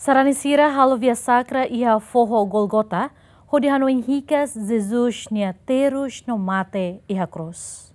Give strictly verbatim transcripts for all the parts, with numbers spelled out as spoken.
Sarani sira halo via sakra iha foho Golgota, hodi hanoin hikas Jesus nia terus no mate iha krús.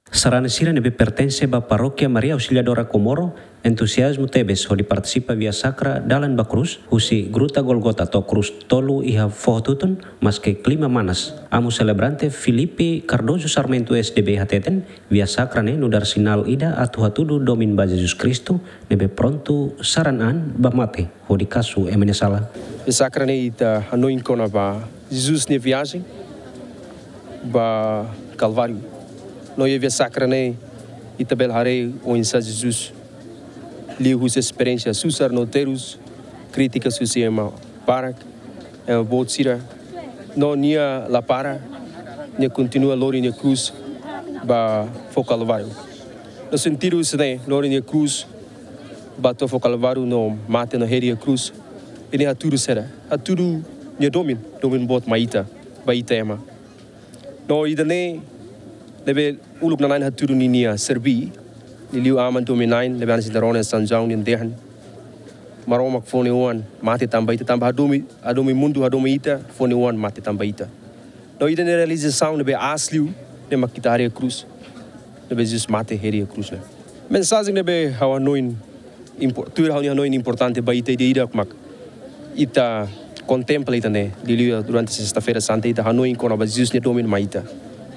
Sarani sira ne'ebé pertense ba Parókia Maria Auxiliadora Comoro entuziazmu tebes hodi partisipa via sakra dalan ba krús husi Gruta Golgota to'o krús tolu iha foho Tutun, maske klima manas. Amu selebrante Filipe Cardoso Sarmento S D B hateten, via sakra ne'e nu'udar sinál ida atu hatudu domin ba Jesus Kristu ne'ebé prontu saran an ba mate hodi kasu ema nia sala. Via sakra ne'e ita hanoin kona-ba Jesus nia viajen ba Kalváriu. No iha via sakra ne'e ita bele haree oinsá Jesus liuhusi esperiénsia susar no terus, krítika husi ema barak, ema boot sira. No nia la para, nia kontinua lori nia krús ba foho Kalváriu. No sentidu husi ne'e, lori nia krús ba to'o foho Kalváriu no mate no hedi iha krús. Ida-ne'e hatudu saida? Hatudu nia domin, domin boot mai ita, ba ita ema. No ida-ne'e ne'ebé uluk nanain hatudu ninia serví, liuliu aman domin na'in ne'ebé hanesan ita rona iha São João nian dehan. Maromak fó nia oan mate tanba ita, tanba hadomi, hadomi mundu, hadomi ita, fó nia oan mate tanba ita. No ida-ne'e realizasaun ne'ebé aas liu ne'e mak ita haree iha krús, ne'ebé Jesus mate hedi iha krús ne'e. Mensajen ne'ebé ha'u hanoin impo-, tuir ha'u-nia hanoin importante ba ita ida-idak mak ita kontempla ida-ne'e, liuliu durante Sesta-feira Santa ita hanoin kona-ba Jesus nia domin mai ita.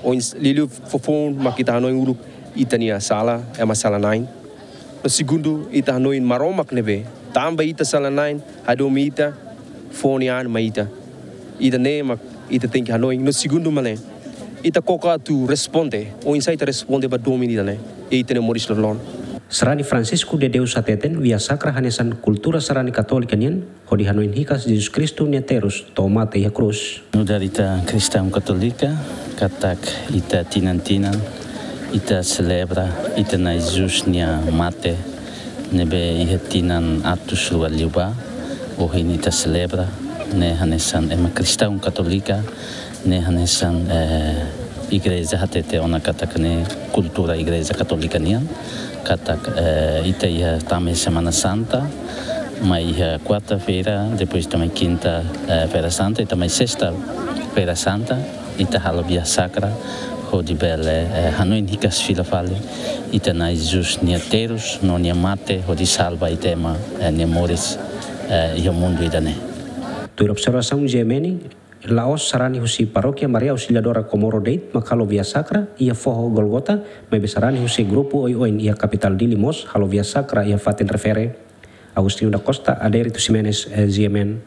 Oinsá, liuliu foufoun mak ita hanoin uluk ita-nia sala, ema sala-na'in. No segundu, ita hanoin Maromak ne'ebé tanba ita sala-na'in, hadomi ita, fó nia an mai ita. Ida-ne'e mak ita tenke hanoin. No segundu mak ne'e, ita koko atu responde, oinsá ita responde ba domin ida-ne'e iha ita-nia moris loroloron. Sarani Francisco de Deus hateten, via sakra hanesan kultura sarani Katólika nian, hodi hanoin hikas Jesus Kristu nia terus to'o mate iha krús. Nu'udar ita kristaun katólika, katak ita tinan-tinan ita selebra ita-nia Jesus nia mate, ne'ebé iha tinan atus rua liubá, ohin ita selebra ne'e hanesan ema kristaun katólika, ne'e hanesan, eh, igreja hatete ona katak ne'e kultura Igreja Katólika nian, katak, eh, ita iha tama iha Semana Santa, mai iha kuarta-feira, depois ita mai kinta, eh, Feira Santa, ita mai Sesta-feira Santa, ita halo via sakra, hodi bele, eh, hanoin hikas fila fali ita-nia Jesus nia terus no nia mate hodi salva ita ema, eh, nia moris, eh, iha mundu ida-ne'e. Tuir observasaun G M N, la'ós sarani husi Parókia Maria Auxiliadora Comoro de'it mak halo via sakra iha foho Golgota, maibé sarani husi grupu oioin iha kapitál Dili mós halo via sakra iha fatin refere. Agostinho da Costa, Adérito Ximenes, eh, G M N.